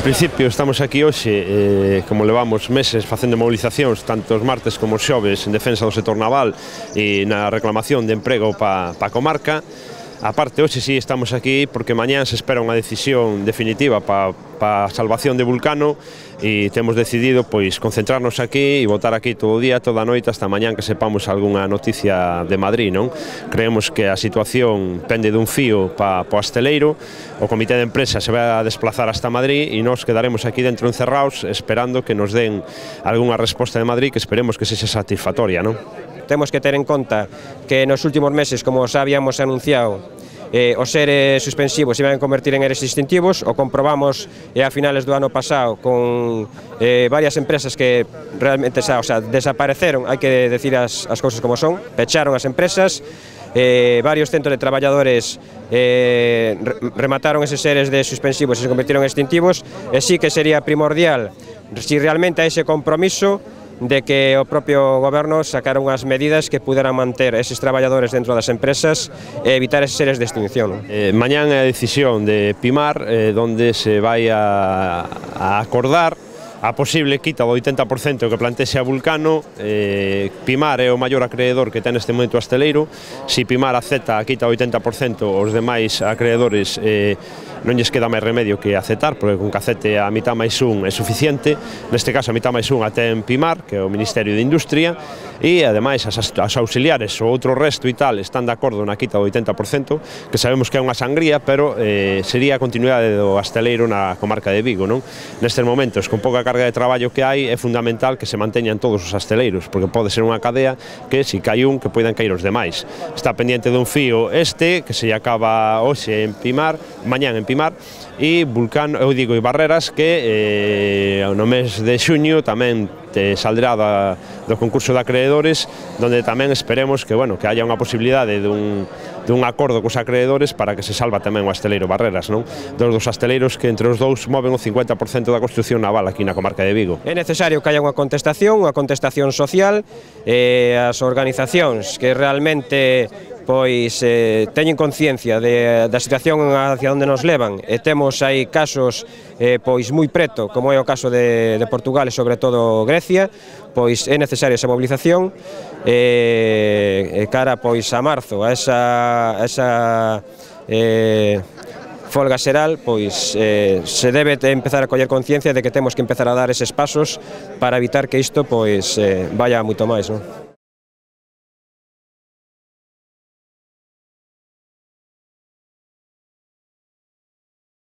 En principio estamos aquí hoxe, como levamos meses facendo movilizacións, tanto os martes como os xoves, en defensa do sector naval e na reclamación de emprego para a comarca. A parte, hoxe sí estamos aquí porque mañán se espera unha decisión definitiva para a salvación de Vulcano e temos decidido pois concentrarnos aquí e votar aquí todo o día, toda a noite, hasta mañán que sepamos algunha noticia de Madrid, non? Creemos que a situación pende dun fío para o asteleiro, o comité de empresa se vai a desplazar hasta Madrid e nós quedaremos aquí dentro encerrados esperando que nos den algunha resposta de Madrid que esperemos que sexa satisfactoria, non? Temos que ter en conta que nos últimos meses, como xa habíamos anunciado, os seres suspensivos se iban a convertir en eres distintivos. O comprobamos a finales do ano pasado con varias empresas que realmente desapareceron, hai que decir as cousas como son, pecharon as empresas, varios centros de traballadores remataron eses seres de suspensivos e se convirtieron en extintivos, e sí que sería primordial, si realmente hai ese compromiso, de que o propio goberno sacara unhas medidas que puderan manter eses traballadores dentro das empresas e evitar eses seres de extinción. Mañán é a decisión de Pimar, donde se vai a acordar a posible quita do 80% que plantexe a Vulcano. Pimar é o maior acreedor que ten neste momento o asteleiro. Se Pimar acepta a quita do 80%, os demais acreedores non lles queda máis remedio que aceptar, porque con que acepte a mitad máis un é suficiente. Neste caso a mitad máis un a ten Pimar, que é o Ministerio de Industria, e ademais as auxiliares, o outro resto e tal, están de acordo na quita do 80%, que sabemos que é unha sangría, pero sería a continuidade do asteleiro na comarca de Vigo, non? Nestes momentos, con pouca carga de traballo que hai, é fundamental que se manteñan todos os asteleiros, porque pode ser unha cadea que, se cai un, que poidan cair os demais. Está pendiente dun fío que se acaba hoxe en Pimar, mañán en Pimar, e Vulcano, eu digo, e Barreras, que no mes de xuño tamén saldrá do concurso de acreedores, donde tamén esperemos que, bueno, que haya unha posibilidade dun acordo cos acreedores para que se salva tamén o asteleiro Barreras, non? Dos asteleiros que entre os dous moven o 50% da construcción naval aquí na comarca de Vigo. É necesario que haya unha contestación social, as organizacións que realmente teñen conciencia da situación hacia onde nos levan, e temos aí casos moi preto, como é o caso de Portugal e sobre todo Grecia, pois é necesaria esa movilización cara a marzo, a esa folga xeral, pois se debe empezar a coller conciencia de que temos que empezar a dar eses pasos para evitar que isto vaya moito máis, non?